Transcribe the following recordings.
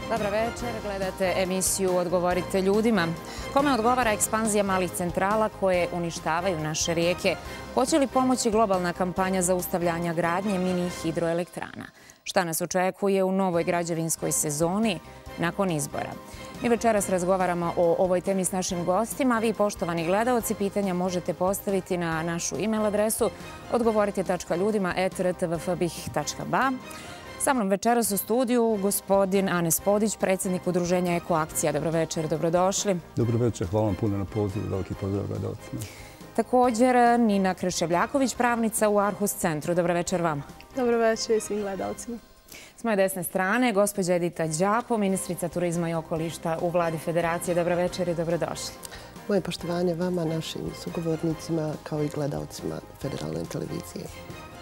Dobro večer, gledate emisiju Odgovorite ljudima. Kome odgovara ekspanzija malih centrala koje uništavaju naše rijeke? Hoće li pomoći globalna kampanja zaustavljanja gradnje mini hidroelektrana? Šta nas očekuje u novoj građevinskoj sezoni nakon izbora? Mi večeras razgovaramo o ovoj temi s našim gostima. Vi, poštovani gledaoci, pitanja možete postaviti na našu e-mail adresu odgovorite.ljudima@rtvfbih.ba. Sa mnom večeras u studiju gospodin Anes Podić, predsjednik Udruženja Ekoakcija. Dobro večer, dobrodošli. Dobro večer, hvala vam puno na pozivu, veliki pozdrav gledalcima. Također Nina Kreševljaković, pravnica u Arhus centru. Dobro večer vam. Dobro večer i svim gledalcima. S moje desne strane, gospođa Edita Đapo, ministrica turizma i okoliša u vladi Federacije. Dobro večer i dobrodošli. Moje poštovanje vama, našim sugovornicima kao i gledalcima Federalne televizije.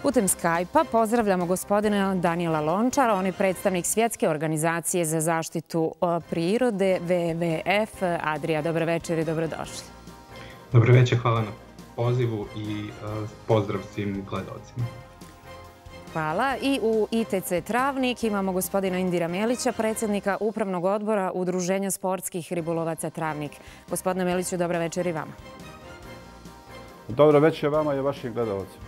Putem Skype-a pozdravljamo gospodina Daniela Lončara, on je predstavnik Svjetske organizacije za zaštitu prirode WWF. Adria, dobro večer i dobrodošli. Dobro večer, hvala na pozivu i pozdrav svim gledalcima. Hvala. I u ITC Travnik imamo gospodina Indira Melića, predsjednika Upravnog odbora Udruženja sportskih ribolovaca Travnik. Gospodine Meliću, dobro večer i vama. Dobro večer vama i vašim gledalcima.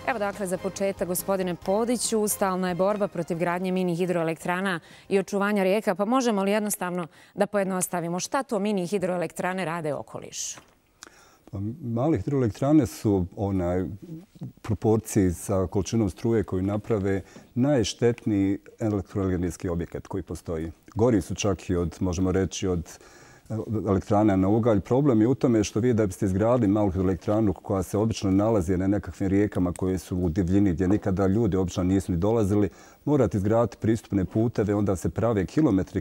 Evo dakle za početak, gospodine Podiću, stalna je borba protiv gradnje mini hidroelektrana i očuvanja rijeka, pa možemo li jednostavno da pojednostavimo šta to mini hidroelektrane rade okolišu? Male hidroelektrane su proporciji sa količinom struje koju naprave najštetniji elektroenergetski objekat koji postoji. Gori su čak i od, možemo reći, od elektrana na ugalj. Problem je u tome što vi da biste izgradili malu hidroelektranu koja se obično nalazi na nekakvim rijekama koje su u divljini gdje nikada ljudi obično nisu ni dolazili, morate izgraditi pristupne puteve, onda se prave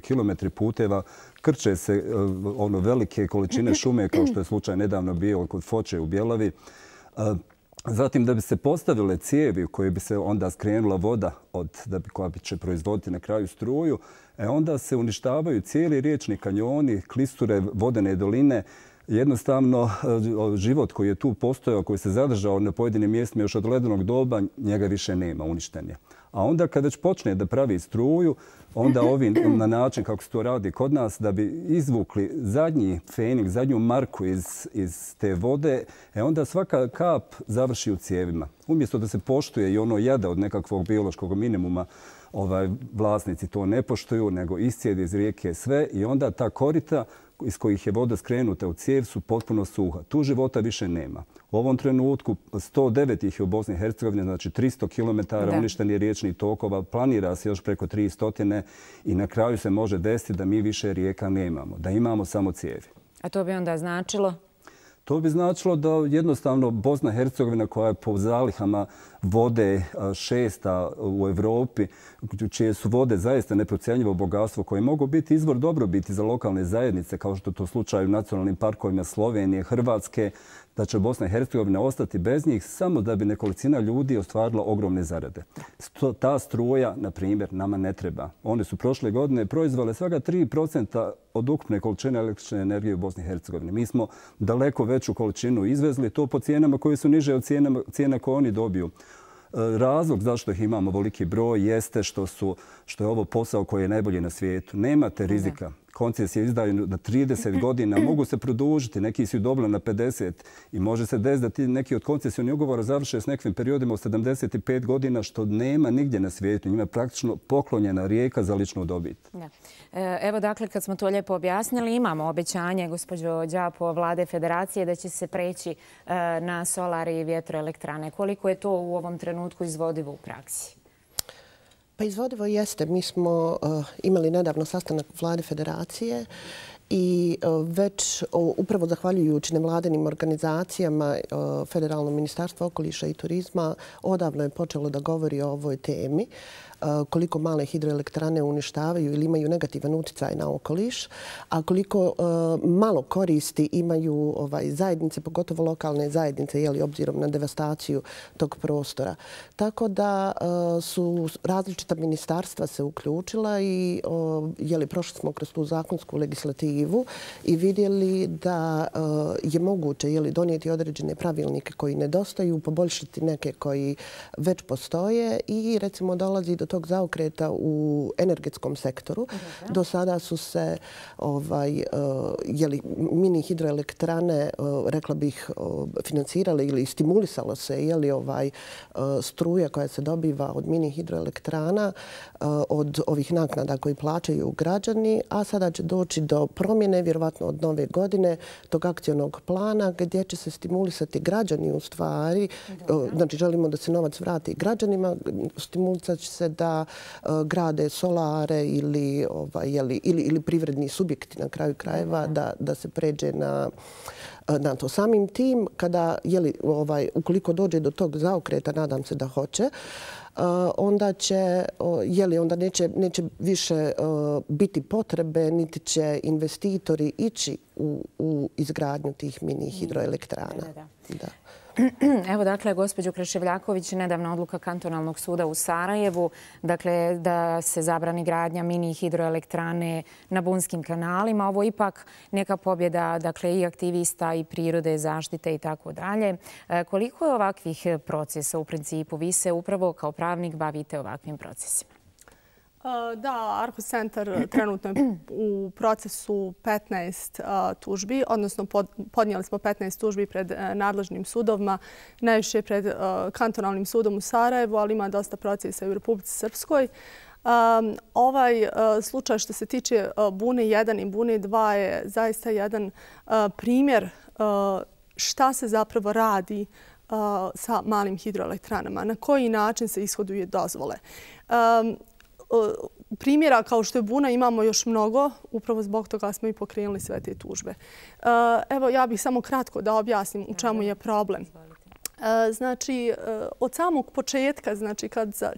kilometri puteva, krče se velike količine šume kao što je slučaj nedavno bio kod Foče u Bjelavi. Zatim, da bi se postavile cijevi u koje bi se onda skrenula voda koja će proizvoditi na kraju struju, onda se uništavaju cijeli riječni kanjoni, klisture, vodene doline. Jednostavno, život koji je tu postojao, koji se zadržao na pojedinim mjestima još od ledenog doba, njega više nema, uništen je. A onda kad već počne da pravi struju, onda ovi na način kako se to radi kod nas, da bi izvukli zadnji fenik, zadnju marku iz te vode, onda svaka kap završi u cijevima. Umjesto da se poštuje i ono jada od nekakvog biološkog minimuma, vlasnici to ne poštuju, nego iscijede iz rijeke sve i onda ta korita iz kojih je voda skrenuta u cijev su potpuno suha. Tu života više nema. U ovom trenutku 109 ih je u Bosni i Hercegovini, znači 300 km uništenih riječnih tokova, planira se još preko 300 i na kraju se može desiti da mi više rijeka nemamo, da imamo samo cijevi. A to bi onda značilo? To bi značilo da jednostavno Bosna i Hercegovina koja je po zalihama vode šesta u Europi, čije su vode zaista neprocjenjivo bogatstvo koje mogu biti izvor dobrobiti za lokalne zajednice, kao što je to slučaj u nacionalnim parkovima Slovenije, Hrvatske, da će Bosna i Hercegovina ostati bez njih samo da bi nekolicina ljudi ostvarila ogromne zarade. Ta struja, na primjer, nama ne treba. One su prošle godine proizvele svega 3% od ukupne količine električne energije u Bosni i Hercegovini. Mi smo daleko veću količinu izvezli, to po cijenama koje su niže od cijena koje oni dobiju. Razlog zašto ih imamo veliki broj jeste što je ovo posao koji je najbolji na svijetu. Nemate rizika. Koncesije izdaju na 30 godina, mogu se produžiti, neki su dobili na 50 i može se desiti da ti neki od koncesijnih ugovora završe s nekim periodima od 75 godina, što nema nigdje na svijetu. Njima je praktično poklonjena rijeka za ličnu dobit. Evo dakle, kad smo to lijepo objasnili, imamo obećanje, gospođo Đapo, vlade Federacije da će se preći na solari i vjetroelektrane. Koliko je to u ovom trenutku izvodivo u praksi? Pa izvodivo jeste. Mi smo imali nedavno sastanak vlade Federacije i već upravo zahvaljujući nevladinim organizacijama Federalno ministarstvo okoliša i turizma odavno je počelo da govori o ovoj temi, koliko male hidroelektrane uništavaju ili imaju negativan utjecaj na okoliš, a koliko malo koristi imaju zajednice, pogotovo lokalne zajednice, obzirom na devastaciju tog prostora. Tako da su različita ministarstva se uključila i prošli smo kroz tu zakonsku legislativu i vidjeli da je moguće donijeti određene pravilnike koji nedostaju, poboljšati neke koji već postoje i recimo dolazi do tog zaokreta u energetskom sektoru. Do sada su se mini hidroelektrane, rekla bih, financirale ili stimulisalo se struja koja se dobiva od mini hidroelektrana, od ovih naknada koji plaćaju građani, a sada će doći do promjene, vjerovatno od nove godine, tog akcionog plana gdje će se stimulisati građani u stvari. Znači, želimo da se novac vrati građanima, stimulisat će se da grade solare ili privredni subjekti na kraju krajeva, da se pređe na to. Samim tim, ukoliko dođe do tog zaokreta, nadam se da hoće, onda neće više biti potrebe, niti će investitori ići u izgradnju tih mini hidroelektrana. Evo, dakle, gospođo Kreševljaković, nedavna odluka Kantonalnog suda u Sarajevu, dakle, da se zabrani gradnja mini hidroelektrane na bunskim kanalima. Ovo je ipak neka pobjeda, dakle, i aktivista i prirode, zaštite i tako dalje. Koliko je ovakvih procesa u principu? Vi se upravo kao pravnik bavite ovakvim procesima. Da, Arhus centar trenutno je u procesu 15 tužbi, odnosno podnijeli smo 15 tužbi pred nadležnim sudovima, najviše pred Kantonalnim sudom u Sarajevu, ali ima dosta procesa i u Republici Srpskoj. Ovaj slučaj što se tiče Bune 1 i Bune 2 je zaista jedan primjer šta se zapravo radi sa malim hidroelektranama, na koji način se ishoduju dozvole. Primjera kao što je Buna imamo još mnogo, upravo zbog toga smo i pokrenuli sve te tužbe. Evo, ja bih samo kratko da objasnim u čemu je problem. Znači, od samog početka, znači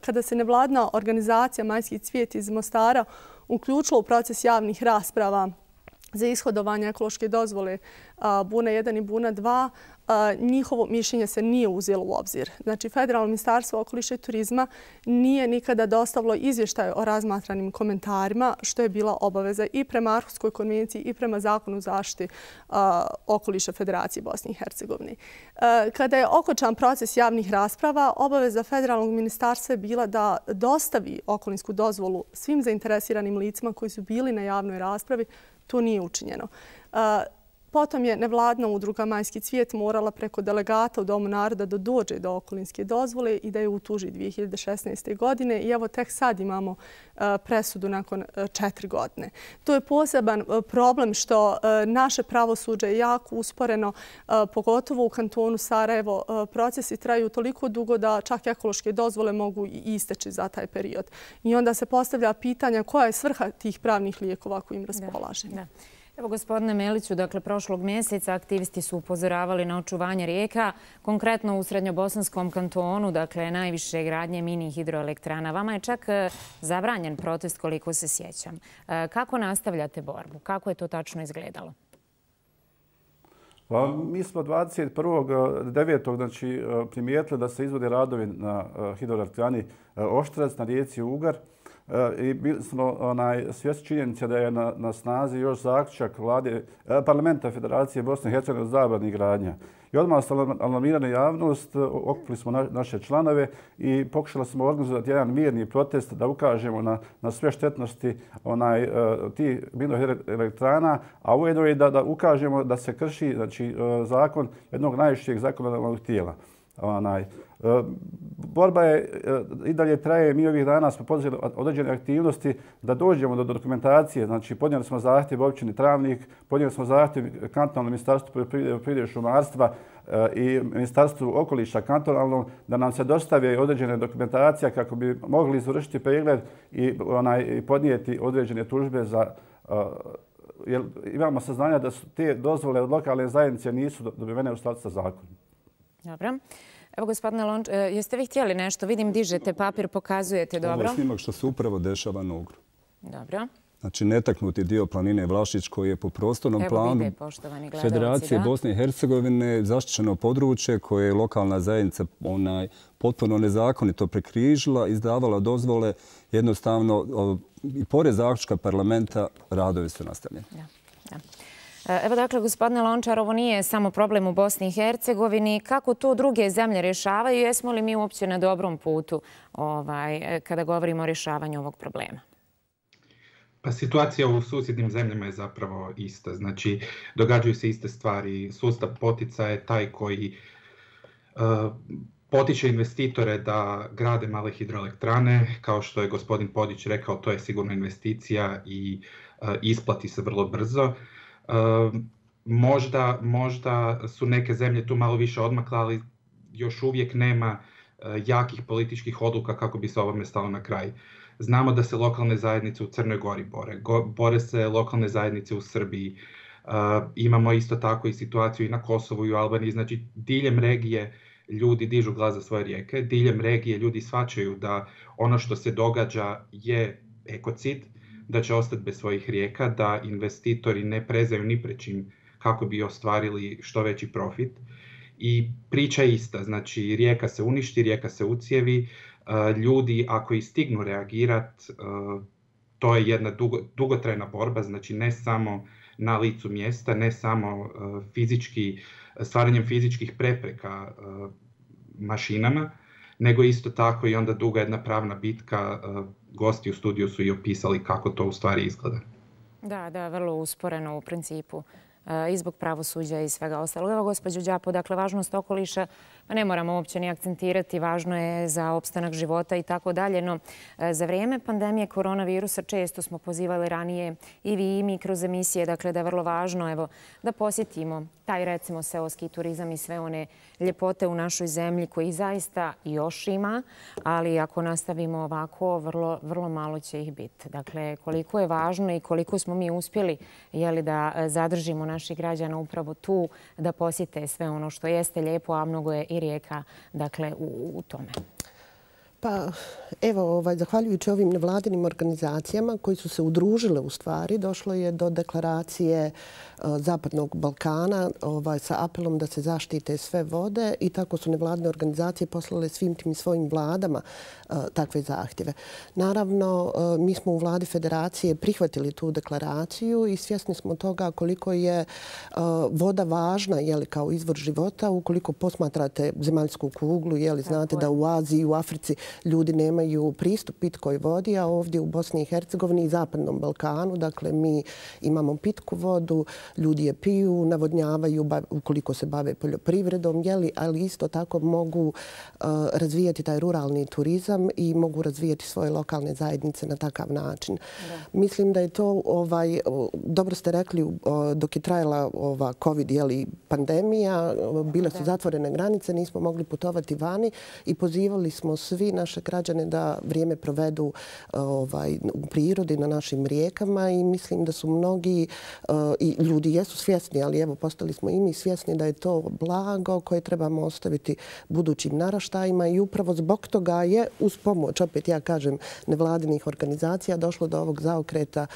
kada se nevladna organizacija Majski cvijet iz Mostara uključila u proces javnih rasprava za ishodovanje ekološke dozvole Buna 1 i Buna 2, njihovo mišljenje se nije uzelo u obzir. Znači, Federalno ministarstvo okoliša i turizma nije nikada dostavilo izvještaj o razmatranim komentarima, što je bila obaveza i prema Arhuskoj konvenciji i prema Zakonu o zaštiti okoliša Federacije Bosne i Hercegovine. Kada je okončan proces javnih rasprava, obaveza Federalnog ministarstva je bila da dostavi okolinsku dozvolu svim zainteresiranim licima koji su bili na javnoj raspravi. To nije učinjeno. Potom je nevladna udruga Majski cvijet morala preko delegata u Domu naroda da dođe do okolinske dozvole i da je utuži 2016. godine. I evo tek sad imamo presudu nakon 4 godine. To je poseban problem što naše pravosuđe je jako usporeno, pogotovo u kantonu Sarajevo. Procesi traju toliko dugo da čak ekološke dozvole mogu i isteći za taj period. I onda se postavlja pitanja koja je svrha tih pravnih lijekova kojim raspolažemo. Evo, gospodine Meliću, dakle, prošlog mjeseca aktivisti su upozoravali na očuvanje rijeka, konkretno u Srednjobosanskom kantonu, dakle, najviše gradnje mini hidroelektrana. Vama je čak zabranjen protest, koliko se sjećam. Kako nastavljate borbu? Kako je to tačno izgledalo? Mi smo 21.9. Znači, primijetili da se izvode radovi na hidroelektrani Oštrac na rijeci Ugar. I bili smo svjesni činjenice da je na snazi još zaključak Parlamenta Federacije Bosne i Hercegovine o zabrani gradnja. I odmah ste alarmirali javnost, okupili smo naše članove i pokušali smo organizovati jedan mirni protest da ukažemo na sve štetnosti tih mini hidroelektrana, a ujedno i da ukažemo da se krši zakon jednog najvišeg zakonodavnog tijela. Borba je i dalje traje. Mi ovih dana smo poduzeli određene aktivnosti da dođemo do dokumentacije. Znači, podnijeli smo zahtjev općini Travnik, podnijeli smo zahtjev Kantonalnom ministarstvu poljoprivrede i šumarstva i Ministarstvu okoliša kantonalnom da nam se dostave određene dokumentacije kako bi mogli izvršiti pregled i podnijeti određene tužbe za... Jer imamo saznanja da su te dozvole od lokalne zajednice nisu dobivene u skladu sa zakonom. Dobro. Evo, gospodine Lonč, jeste vi htjeli nešto? Vidim, dižete papir, pokazujete, dobro. Ovo je snimak što se upravo dešava na Ugru. Dobro. Znači, netaknuti dio planine Vlašić koji je po prostornom planu Federacije Bosne i Hercegovine zaštićeno područje koje je lokalna zajednica potpuno nezakonito prekrižila, izdavala dozvole, jednostavno i pored zaključka parlamenta radovi su nastavljeni. Evo dakle, gospodine Lončar, ovo nije samo problem u Bosni i Hercegovini. Kako to druge zemlje rješavaju? Jesmo li mi uopće na dobrom putu kada govorimo o rješavanju ovog problema? Pa situacija u susjednim zemljama je zapravo ista. Znači, događaju se iste stvari. Sustav poticaja je taj koji potiče investitore da grade male hidroelektrane. Kao što je gospodin Podić rekao, to je sigurno investicija i isplati se vrlo brzo. Možda su neke zemlje tu malo više odmakle, ali još uvijek nema jakih političkih odluka kako bi se ovome stalo na kraj. Znamo da se lokalne zajednice u Crnoj Gori bore se lokalne zajednice u Srbiji. Imamo isto tako i situaciju i na Kosovu i u Albaniji. Znači, diljem regije ljudi dižu glas za svoje rijeke, diljem regije ljudi shvaćaju da ono što se događa je ekocid, da će ostati bez svojih rijeka, da investitori ne prezaju ni pred čim kako bi ostvarili što veći profit. I priča je ista, znači rijeka se uništi, rijeka se ucijevi, ljudi ako i stignu reagirati, to je jedna dugotrajna borba, znači ne samo na licu mjesta, ne samo stvaranjem fizičkih prepreka mašinama, nego isto tako i onda duga jedna pravna bitka. Gosti u studiju su i opisali kako to u stvari izgleda. Da, vrlo usporeno u principu i zbog pravosuđa i svega ostalog. Evo, gospođo Đapo, dakle, važnost okoliša ne moramo uopće ni akcentirati, važno je za opstanak života i tako dalje, no za vrijeme pandemije koronavirusa često smo pozivali ranije i vi i mi kroz emisije, dakle, da je vrlo važno evo, da posjetimo taj recimo seoski turizam i sve one ljepote u našoj zemlji koji zaista još ima, ali ako nastavimo ovako, vrlo malo će ih biti. Dakle, koliko je važno i koliko smo mi uspjeli da zadržimo naših građana upravo tu, da posjete sve ono što jeste lijepo, a mnogo je i rijeka u tome. Pa evo, zahvaljujući ovim nevladinim organizacijama koji su se udružile u stvari, došlo je do deklaracije Zapadnog Balkana sa apelom da se zaštite sve vode i tako su nevladine organizacije poslale svim tim svojim vladama takve zahtjeve. Naravno, mi smo u vladi federacije prihvatili tu deklaraciju i svjesni smo toga koliko je voda važna kao izvor života. Ukoliko posmatrate zemaljsku kuglu, znate da u Aziji i u Africi ljudi nemaju pristup pitkoj vodi, a ovdje u Bosni i Hercegovini i Zapadnom Balkanu, dakle, mi imamo pitku vodu, ljudi je piju, navodnjavaju ukoliko se bave poljoprivredom, ali isto tako mogu razvijati taj ruralni turizam i mogu razvijati svoje lokalne zajednice na takav način. Mislim da je to, dobro ste rekli, dok je trajala ova COVID pandemija, bile su zatvorene granice, nismo mogli putovati vani i pozivali smo svi naše građane da vrijeme provedu u prirodi na našim rijekama i mislim da su mnogi i ljudi jesu svjesni, ali evo postali smo i mi svjesni da je to blago koje trebamo ostaviti budućim naraštajima i upravo zbog toga je uz pomoć, opet ja kažem, nevladinih organizacija došlo do ovog zaokreta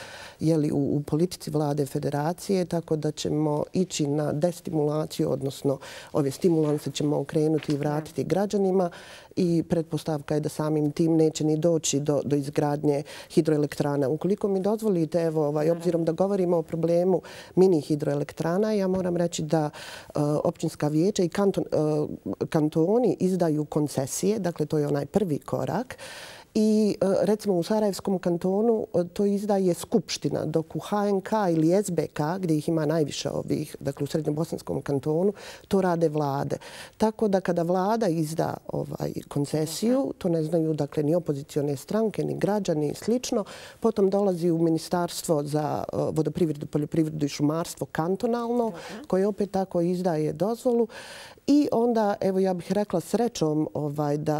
u politici vlade federacije, tako da ćemo ići na destimulaciju, odnosno ove stimulanse ćemo okrenuti i vratiti građanima i pretpostavka je da samim tim neće ni doći do izgradnje hidroelektrana. Ukoliko mi dozvolite, evo, obzirom da govorimo o problemu mini hidroelektrana, ja moram reći da općinska vijeća i kantoni izdaju koncesije, dakle to je onaj prvi korak. I recimo u Sarajevskom kantonu to izdaje Skupština, dok u HNK ili SBK, gdje ih ima najviše ovih, dakle u Srednjobosanskom kantonu, to rade vlade. Tako da kada vlada izda koncesiju, to ne znaju dakle ni opozicione stranke, ni građani i slično, potom dolazi u Ministarstvo za vodoprivredu, poljoprivredu i šumarstvo kantonalno, koje opet tako izdaje dozvolu. I onda, evo ja bih rekla srećom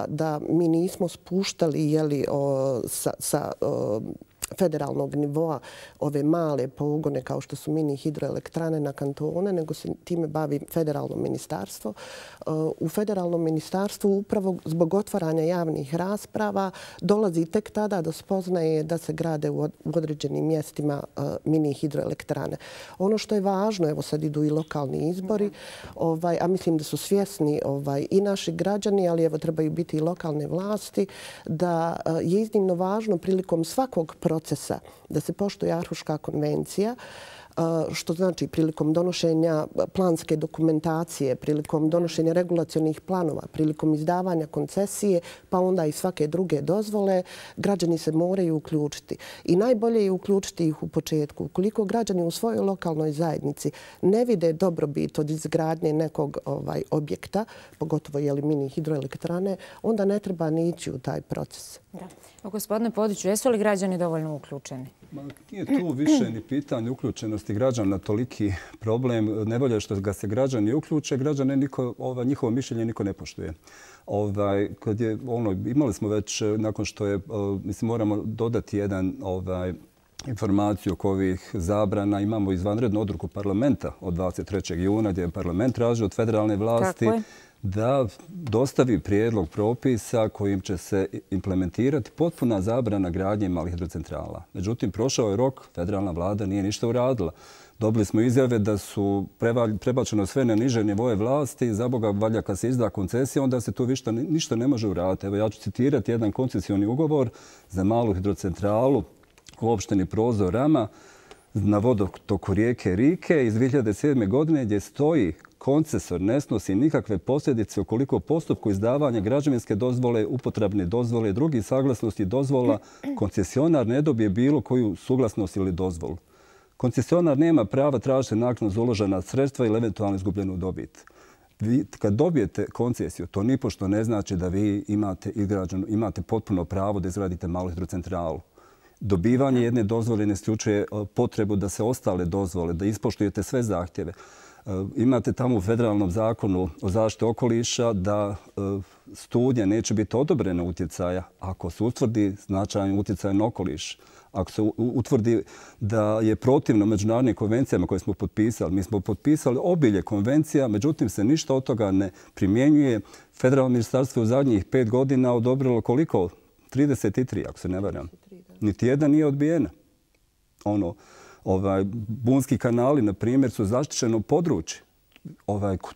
da mi nismo spuštali sa federalnog nivoa ove male pogone kao što su mini hidroelektrane na kantone, nego se time bavi federalno ministarstvo. U federalnom ministarstvu upravo zbog otvaranja javnih rasprava dolazi tek tada do spoznaje da se grade u određenim mjestima mini hidroelektrane. Ono što je važno, evo sad idu i lokalni izbori, a mislim da su svjesni i naši građani, ali evo trebaju biti i lokalne vlasti, da je iznimno važno prilikom svakog procesa da se poštuje Arhuška konvencija, što znači prilikom donošenja planske dokumentacije, prilikom donošenja regulacionih planova, prilikom izdavanja koncesije, pa onda i svake druge dozvole, građani se moraju uključiti. I najbolje je uključiti ih u početku. Ukoliko građani u svojoj lokalnoj zajednici ne vide dobrobit od izgradnje nekog objekta, pogotovo mini hidroelektrane, onda ne treba ni ići u taj proces. Gospodine Podiću, jesu li građani dovoljno uključeni? Nije tu više ni pitanje uključenosti građana na toliki problem. Nevolje što ga se građani uključe, građane njihovo mišljenje niko ne poštuje. Imali smo već, nakon što je, moramo dodati jedan informaciju oko ovih zabrana. Imamo izvanrednu odluku parlamenta od 23. juna gdje je parlament tražio od federalne vlasti da dostavi prijedlog propisa kojim će se implementirati potpuna zabrana gradnje malih hidrocentrala. Međutim, prošao je rok, federalna vlada nije ništa uradila. Dobili smo izjave da su prebačeno sve na niže nivoje vlasti. Za Boga, valja kad se izda koncesija, onda se tu ništa ne može uraditi. Evo, ja ću citirati jedan koncesioni ugovor za malu hidrocentralu u opštini Prozor Rama na vodotoku rijeke Rike iz 2007. godine gdje stoji: koncesor ne snosi nikakve posljedice ukoliko u postupku izdavanja građevinske dozvole, upotrebne dozvole i drugih saglasnosti dozvola koncesionar ne dobije bilo koju suglasnost ili dozvolu. Koncesionar nema prava tražiti naknadu za uložena sredstva ili eventualno izgubljenu dobit. Kad dobijete koncesiju, to nipošto ne znači da vi imate potpuno pravo da izgradite malu hidrocentralu. Dobivanje jedne dozvole ne isključuje potrebu da se ostale dozvole, da ispoštujete sve zahtjeve. Imate tamo u federalnom zakonu o zaštiti okoliša da studija neće biti odobrena utjecaja ako se utvrdi značajan utjecaj na okoliš. Ako se utvrdi da je protivno međunarodnim konvencijama koje smo potpisali. Mi smo potpisali obilje konvencija, međutim se ništa od toga ne primjenjuje. Federalno ministarstvo u zadnjih 5 godina odobrilo koliko? 33, ako se ne varam. Niti jedna nije odbijena. Bunski kanali, na primjer, su zaštićeno područje.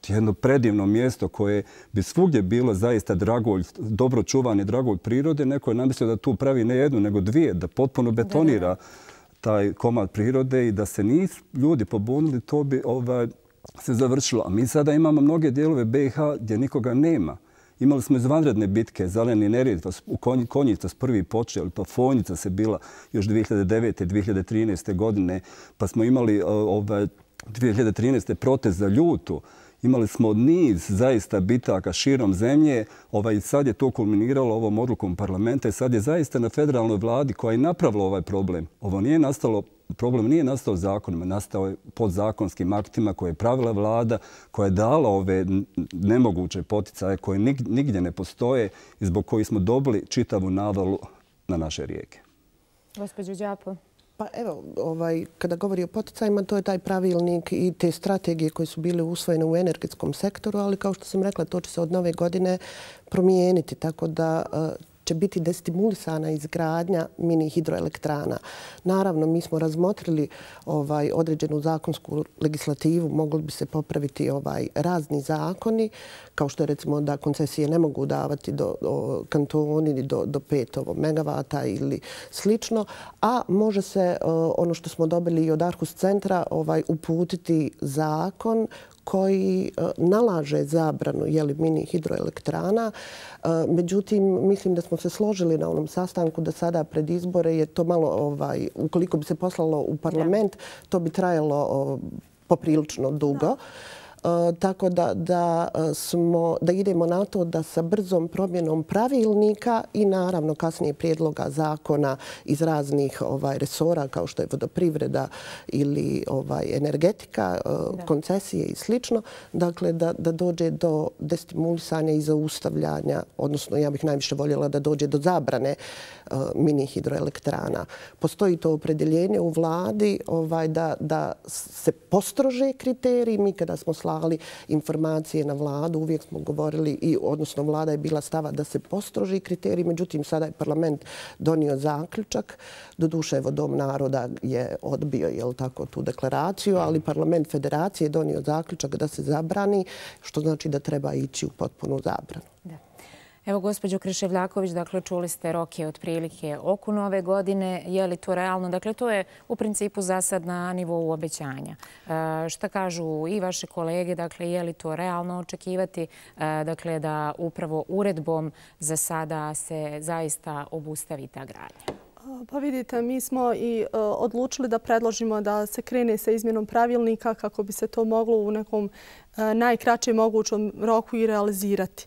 Jedno predivno mjesto koje bi svugdje bilo zaista dragulj, dobro čuvani dragulj prirode. Neko je namislio da tu pravi ne jednu, nego dvije, da potpuno betonira taj komad prirode i da se nisu ljudi pobunili, to bi se završilo. A mi sada imamo mnoge dijelove BiH gdje nikoga nema. Imali smo izvanredne bitke, Zeleni Neretva, Konjica s prvi počeli, pa Fonjica se bila još 2009. 2013. godine, pa smo imali 2013. protest za Ljutu. Imali smo niz zaista bitaka širom zemlje. Sad je to kulminiralo ovom odlukom parlamenta i sad je zaista na federalnoj vladi koja je napravila ovaj problem. Problem nije nastao zakonima, nastao je podzakonskim aktima koje je pravila vlada, koja je dala ove nemoguće poticaje koje nigdje ne postoje i zbog kojih smo dobili čitavu navalu na naše rijeke. Gospođo Đapo. Pa evo, kada govori o poticajima, to je taj pravilnik i te strategije koje su bile usvojene u energetskom sektoru, ali kao što sam rekla, to će se od nove godine promijeniti, tako da će biti destimulisana izgradnja mini hidroelektrana. Naravno, mi smo razmotrili određenu zakonsku legislativu, mogli bi se popraviti razni zakoni, kao što je recimo da koncesije ne mogu davati kantoni do 5 megavata ili slično, a može se, ono što smo dobili i od Arhus centra, uputiti zakon koji nalaže zabranu mini hidroelektrana. Međutim, mislim da smo se složili na onom sastanku da sada pred izbore je to malo, ukoliko bi se poslalo u parlament, to bi trajalo poprilično dugo. Tako da idemo na to da sa brzom promjenom pravilnika i naravno kasnije prijedloga zakona iz raznih resora kao što je vodoprivreda ili energetika, koncesije i slično, dakle da dođe do destimulisanja i zaustavljanja, odnosno ja bih najviše voljela da dođe do zabrane mini hidroelektrana. Postoji to opredjeljenje u vladi da se postrože kriteriji. Mi kada smo slali informacije na vladu, uvijek smo govorili, odnosno vlada je bila stava da se postroži kriteriji, međutim sada je parlament donio zaključak. Doduše, evo Dom naroda je odbio tu deklaraciju, ali parlament federacije je donio zaključak da se zabrani, što znači da treba ići u potpunu zabranu. Evo, gospođo Kriševljaković, dakle, čuli ste roke otprilike oko nove godine. Je li to realno? Dakle, to je u principu za sad na nivou obećanja. Šta kažu i vaše kolege? Dakle, je li to realno očekivati? Dakle, da upravo uredbom za sada se zaista obustavi ta gradnja? Pa vidite, mi smo i odlučili da predložimo da se krene sa izmjenom pravilnika kako bi se to moglo u nekom najkraćem mogućem roku i realizirati.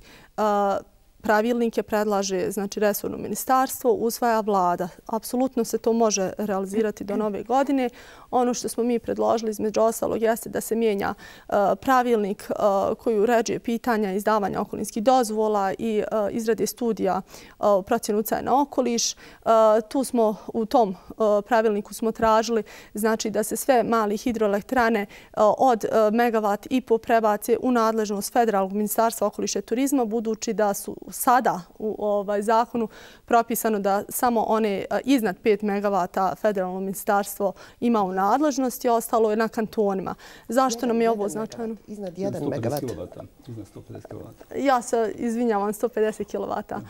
Pravilnike predlaže resorno ministarstvo, usvaja vlada. Apsolutno se to može realizirati do nove godine. Ono što smo mi predložili između ostalog jeste da se mijenja pravilnik koji uređuje pitanja izdavanja okolinskih dozvola i izrade studija o procjeni uticaja na okoliš. Tu smo u tom pravilniku smo tražili da se sve mali hidroelektrane od megavat i po prebace u nadležnost Federalnog ministarstva okoliša i turizma, budući da su sada u zakonu propisano da samo one iznad 5 megavata federalno ministarstvo ima u nadležnosti, a ostalo je na kantonima. Zašto nam je ovo značajno? Iznad 1 megavat. Iznad 150 kW. Ja se izvinjavam, 150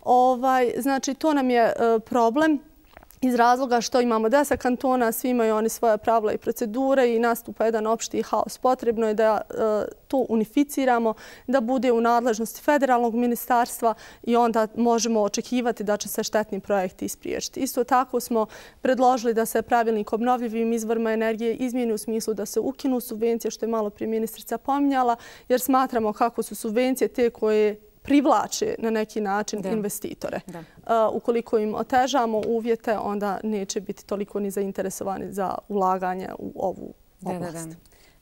kW. Znači, to nam je problem iz razloga što imamo 10 kantona, svi imaju oni svoje pravila i procedure i nastupa jedan opšti haos. Potrebno je da to unificiramo, da bude u nadležnosti federalnog ministarstva i onda možemo očekivati da će se štetni projekti ispriječiti. Isto tako smo predložili da se pravilnik o obnovljivim izvorima energije izmijeni u smislu da se ukinu subvencije, što je malo prije ministrica pominjala, jer smatramo kako su subvencije te koje privlače na neki način investitore. Ukoliko im otežamo uvjete, onda neće biti toliko ni zainteresovani za ulaganje u ovu oblast.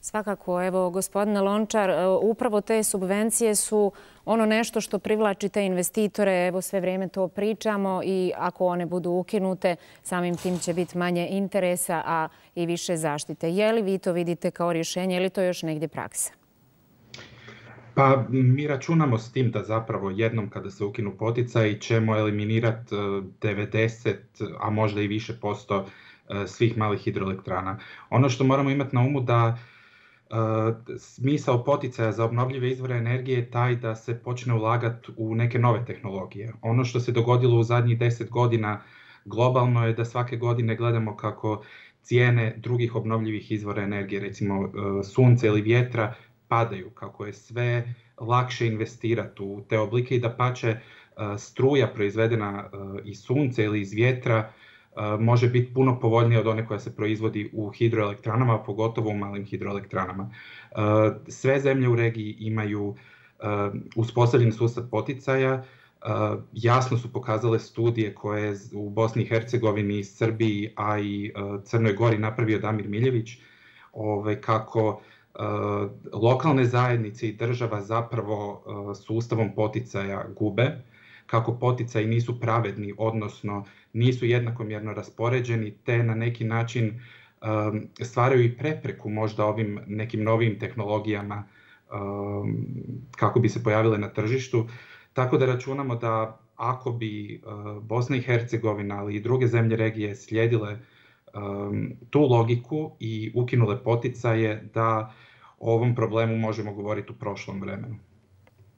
Svakako, evo, gospodine Lončar, upravo te subvencije su ono nešto što privlači te investitore. Evo, sve vrijeme to pričamo i ako one budu ukinute, samim tim će biti manje interesa, a i više zaštite. Je li vi to vidite kao rješenje ili to još negdje praksa? Pa mi računamo s tim da zapravo jednom kada se ukinu poticaji ćemo eliminirati 90, a možda i više posto svih malih hidroelektrana. Ono što moramo imati na umu da smisao poticaja za obnovljive izvore energije je taj da se počne ulagati u neke nove tehnologije. Ono što se dogodilo u zadnjih 10 godina globalno je da svake godine gledamo kako cijene drugih obnovljivih izvora energije, recimo sunca ili vjetra, padaju, kako je sve lakše investirati u te oblike i da pače struja proizvedena iz sunca ili iz vjetra može biti puno povoljnija od one koja se proizvodi u hidroelektranama, pogotovo u malim hidroelektranama. Sve zemlje u regiji imaju uspostavljen sustav poticaja. Jasno su pokazale studije koje je u Bosni i Hercegovini, Srbiji, a i Crnoj Gori napravio Damir Miljević, kako lokalne zajednice i država zapravo sustavom poticaja gube, kako poticaji nisu pravedni, odnosno nisu jednakomjerno raspoređeni, te na neki način stvaraju i prepreku možda ovim nekim novim tehnologijama kako bi se pojavile na tržištu. Tako da računamo da ako bi Bosna i Hercegovina, ali i druge zemlje regije slijedile tu logiku i ukinule poticaje, da o ovom problemu možemo govoriti u prošlom vremenu.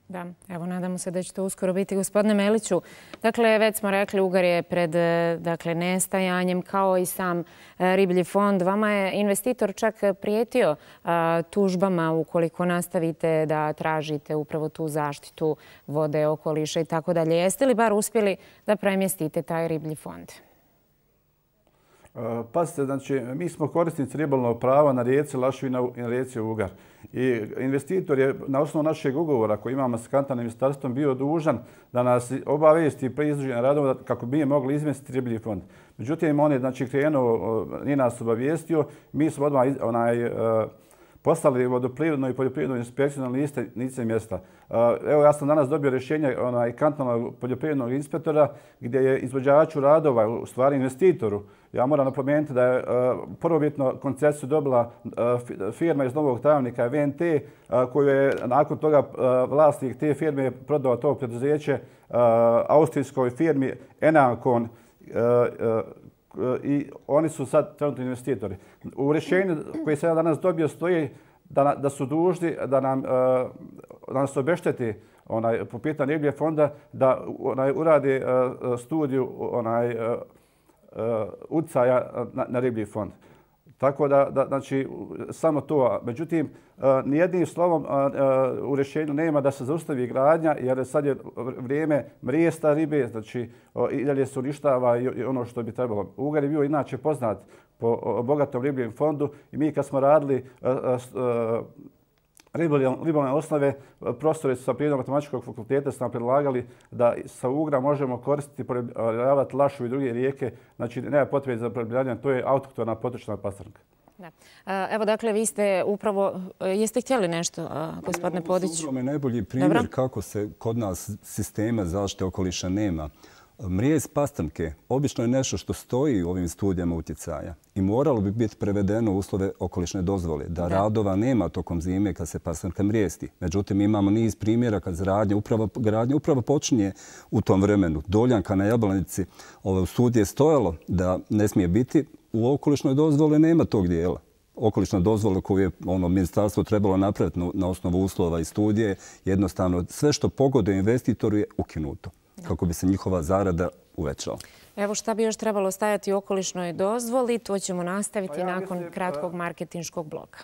Da, evo, nadamo se da će to uskoro biti. Gospodine Meliću, dakle, već smo rekli, Ugar je pred nestajanjem, kao i sam riblji fond. Vama je investitor čak prijetio tužbama ukoliko nastavite da tražite upravo tu zaštitu vode, okoliša i tako dalje. Jeste li bar uspjeli da premjestite taj riblji fond? Pazite, znači, mi smo korisnici ribolovnog prava na rijeci Lašvi i na rijeci Ugar. I investitor je na osnovu našeg ugovora koji imamo s kantonalnim ministarstvom bio dužan da nas obavijesti pri izvođenju radova kako bi mogli izmjestiti riblji fond. Međutim, on je krenuo, nije nas obavijestio. Mi smo odmah poslali vodoprivrednu i poljoprivrednu inspekciju na lice mjesta. Evo, ja sam danas dobio rješenje kantonalnog poljoprivrednog inspektora gdje je izvođaču radova, u stvari investitoru, ja moram napomenuti da je prvobitno koncesiju dobila firma iz Novog Travnika, VNT, koju je nakon toga vlasnik te firme prodao to preduzeće austrijskoj firmi Enancon, i oni su sad trenutno investitori. U rješenju koje sam ja danas dobio stoji da su dužni da nas obešteti po pitanju ribljeg fonda da urade studiju utjecaja na riblji fond. Tako da, znači, samo to. Međutim, nijednim slovom u rješenju nema da se zaustavi gradnja, jer sad je vrijeme mrijesta ribe, znači i dalje se uništava i ono što bi trebalo. Ugar je bio inače poznat po bogatom ribljem fondu i mi kad smo radili ribolovne osnove, profesori sa Prirodno-matematičkog fakulteta su nam predlagali da sa Ugra možemo koristiti, poribljavati Lašu i druge rijeke. Znači, nema potrebe za poribljavanje, to je autohtona potočna pastrnka. Evo, dakle, vi ste upravo, jeste htjeli nešto, gospodine Podić? Ovo je najbolji primjer kako se kod nas sistema zaštite okoliša nema. Mrijez pastrnke obično je nešto što stoji u ovim studijama utjecaja i moralo bi biti prevedeno u uslove okolišne dozvole, da radova nema tokom zime kad se pastrnka mrijesti. Međutim, imamo niz primjera kad gradnja upravo počinje u tom vremenu. Doljanka na Jablanici u studiji je stojalo da ne smije biti, u okolišnoj dozvoli nema tog dijela. Okolišna dozvola koju je ministarstvo trebalo napraviti na osnovu uslova i studije, jednostavno sve što pogoduje investitoru je ukinuto kako bi se njihova zarada uvećala. Evo šta bi još trebalo stajati u okolišnoj dozvoli, to ćemo nastaviti nakon kratkog marketinškog bloka.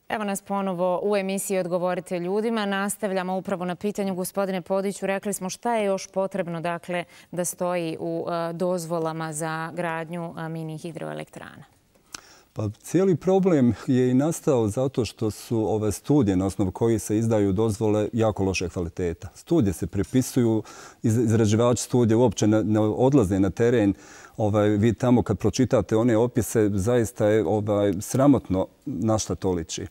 Evo nas ponovo u emisiji Odgovorite ljudima. Nastavljamo upravo na pitanju gospodine Podiću. Rekli smo šta je još potrebno dakle, da stoji u dozvolama za gradnju mini hidroelektrana. Pa cijeli problem je i nastao zato što su ove studije na osnovu kojih se izdaju dozvole jako loše kvaliteta. Studije se prepisuju, izrađivači studije uopće ne odlaze na teren. Vi tamo kad pročitate one opise, zaista je sramotno na šta to liči.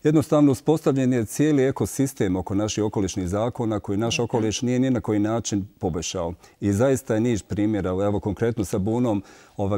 Jednostavno uspostavljen je cijeli ekosistem oko naših okolišnih zakona koji naš okoliš nije ni na koji način poboljšao. I zaista je niz primjera. Evo konkretno sa bunom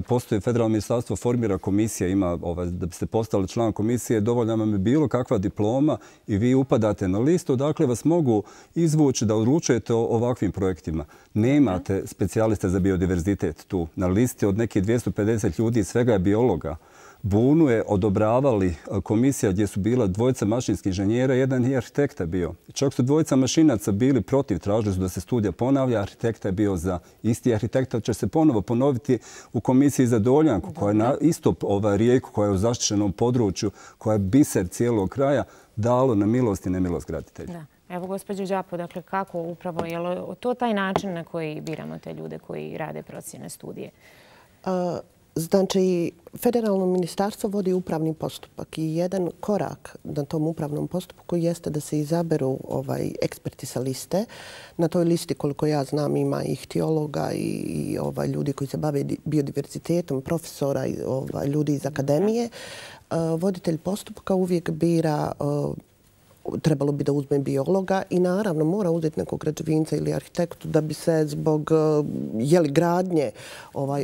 postoji federalno ministarstvo, formira komisija, ima da biste postali član komisije, dovoljna vam je bilo kakva diploma i vi upadate na listu. Dakle, vas mogu izvući da odlučujete o ovakvim projektima. Nemate specijaliste za biodiverzitet tu. Na listi od nekih 250 ljudi svega je biologa. Bunu je odobravali komisija gdje su bila dvojica mašinskih inženjera, jedan je arhitekta bio. Čak su dvojica mašinaca bili protiv, tražili su da se studija ponavlja, arhitekta je bio za. Isti arhitekta će se ponovo ponoviti u komisiji za Doljanku, koja je na isto rijeku, koja je u zaštićenom području, koja je biser cijelog kraja, dalo na milost i nemilost graditelja. Evo, gospođo Đapo, dakle, kako upravo, je li to taj način na koji biramo te ljude koji rade procjene studije? Znači, federalno ministarstvo vodi upravni postupak i jedan korak na tom upravnom postupku jeste da se izaberu eksperti sa liste. Na toj listi, koliko ja znam, ima i ihtiologa i ljudi koji se bave biodiverzitetom, profesora, ljudi iz akademije. Voditelj postupka uvijek bira, trebalo bi da uzme biologa i naravno mora uzeti nekog građevinca ili arhitektu da bi se zbog gradnje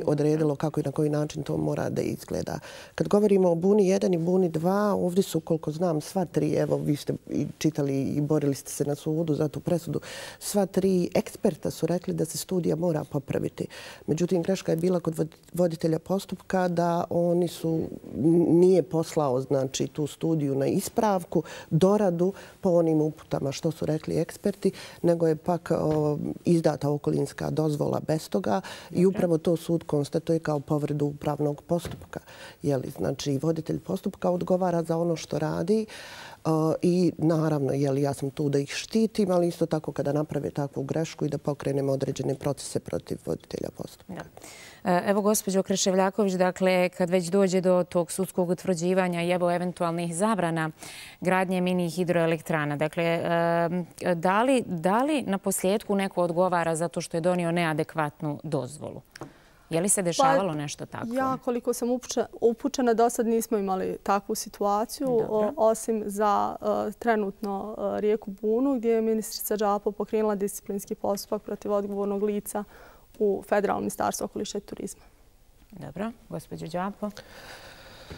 odredilo kako i na koji način to mora da izgleda. Kad govorimo o Buni 1 i Buni 2, ovdje su, koliko znam, sva tri, evo vi ste čitali i borili ste se na sudu za tu presudu, sva tri eksperta su rekli da se studija mora popraviti. Međutim, greška je bila kod voditelja postupka da nije poslao znači tu studiju na ispravku, doradu po onim uputama što su rekli eksperti, nego je pak izdata okolinska dozvola bez toga i upravo to sud konstatuje kao povredu upravnog postupka. Znači, voditelj postupka odgovara za ono što radi i naravno, ja sam tu da ih štitim, ali isto tako kada naprave takvu grešku i da pokrenemo određene procese protiv voditelja postupka. Evo, gospođo Kreševljaković, dakle, kad već dođe do tog sudskog utvrđivanja i evo eventualnih zabrana gradnje mini hidroelektrana, dakle, da li na posljedku neko odgovara zato što je donio neadekvatnu dozvolu? Je li se dešavalo nešto tako? Ja, koliko sam upućena, do sad nismo imali takvu situaciju, osim za trenutno rijeku Bunu, gdje je ministrica Đapo pokrenula disciplinski postupak protiv odgovornog lica u Federalnom ministarstvu okoliša i turizma. Dobro. Gospođo Đapo,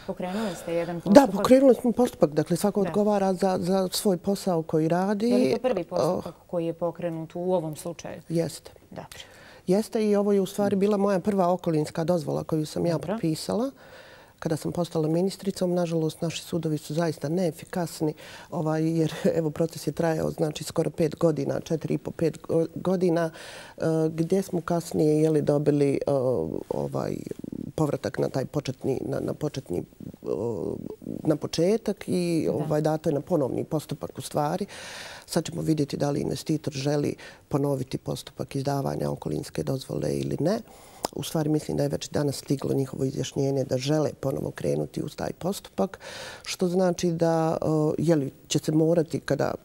pokrenuli ste jedan postupak? Da, pokrenuli smo postupak. Dakle, svako odgovara za svoj posao koji radi. Je li to prvi postupak koji je pokrenut u ovom slučaju? Jeste. Dobro. Jeste i ovo je u stvari bila moja prva okolinska dozvola koju sam ja potpisala. kada sam postala ministricom. Nažalost, naši sudovi su zaista neefikasni jer evo proces je trajao znači skoro 5 godina, 4,5-5 godina, gdje smo kasnije dobili povratak na taj na početak i dato je na ponovni postupak u stvari. Sad ćemo vidjeti da li investitor želi ponoviti postupak izdavanja okolinske dozvole ili ne. U stvari mislim da je već danas stiglo njihovo izjašnjenje da žele ponovo krenuti uz taj postupak, što znači da će se morati,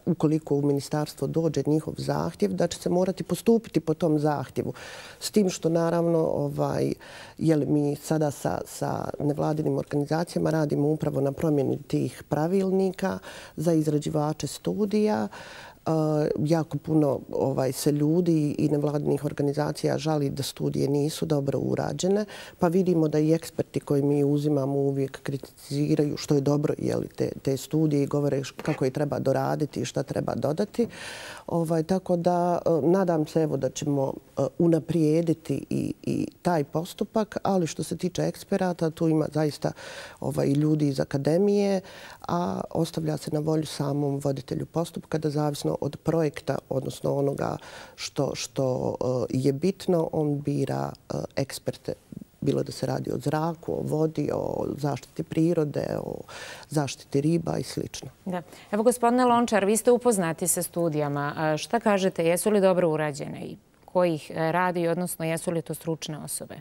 ukoliko u ministarstvo dođe njihov zahtjev, da će se morati postupiti po tom zahtjevu. S tim što naravno mi sada sa nevladinim organizacijama radimo upravo na promjeni tih pravilnika za izrađivače studija. Jako puno se ljudi i nevladinih organizacija žali da studije nisu dobro urađene, pa vidimo da i eksperti koji mi uzimamo uvijek kritiziraju, što je dobro, te studije i govore kako je treba doraditi i šta treba dodati. Tako da nadam se da ćemo unaprijediti i taj postupak, ali što se tiče eksperata, tu ima zaista i ljudi iz akademije, a ostavlja se na volju samom voditelju postupka da zavisno od projekta, odnosno onoga što je bitno, on bira eksperte. Bilo da se radi o zraku, o vodi, o zaštiti prirode, o zaštiti riba i sl. Da. Evo, gospodine Lončar, vi ste upoznati sa studijama. Šta kažete, jesu li dobro urađene i ko ih radi, odnosno jesu li to stručne osobe?